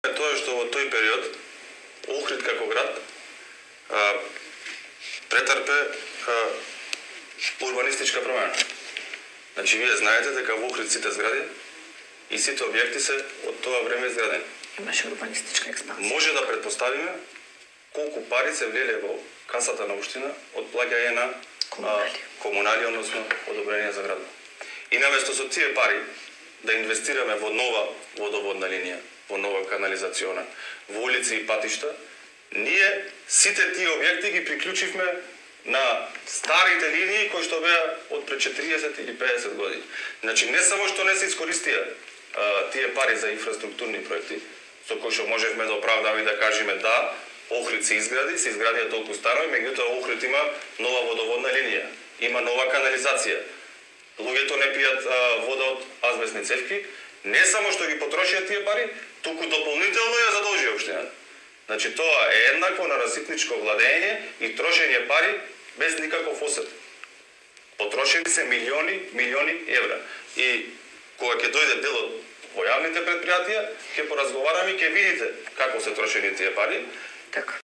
Тоа што во тој период Охрид како град претрпе урбанистичка промена. Значи, вие знаете дека во Охрид сите згради и сите објекти се од тоа време изградени. Имаше урбанистичка експансија. Може да претпоставиме колку пари се влеле во касата на општина од плаќање на комунални, односно одобрение за градот. И наместо со тие пари да инвестираме во нова водоводна линија, во нова канализациона, во улици и патишта, ние сите тие објекти ги приклучивме на старите линии кои што беа од пред 40 или 50 години. Значи, не само што не се искористија тие пари за инфраструктурни проекти, со кои што можевме да оправдаме и да кажеме да, Охрид се изградија толку станови, меѓутоа Охрид има нова водоводна линија, има нова канализација. Луѓето не пијат вода од азбестни цевки, не само што ги потрошија тие пари, туку дополнително ја задолжија општината. Значи, тоа е еднакво на раситничко владење и трошење пари без никаков осет. Потрошени се милиони евра. И кога ќе дојде делот во јавните предпријатија, ќе поразговараме и ќе видите како се трошени тие пари. Така.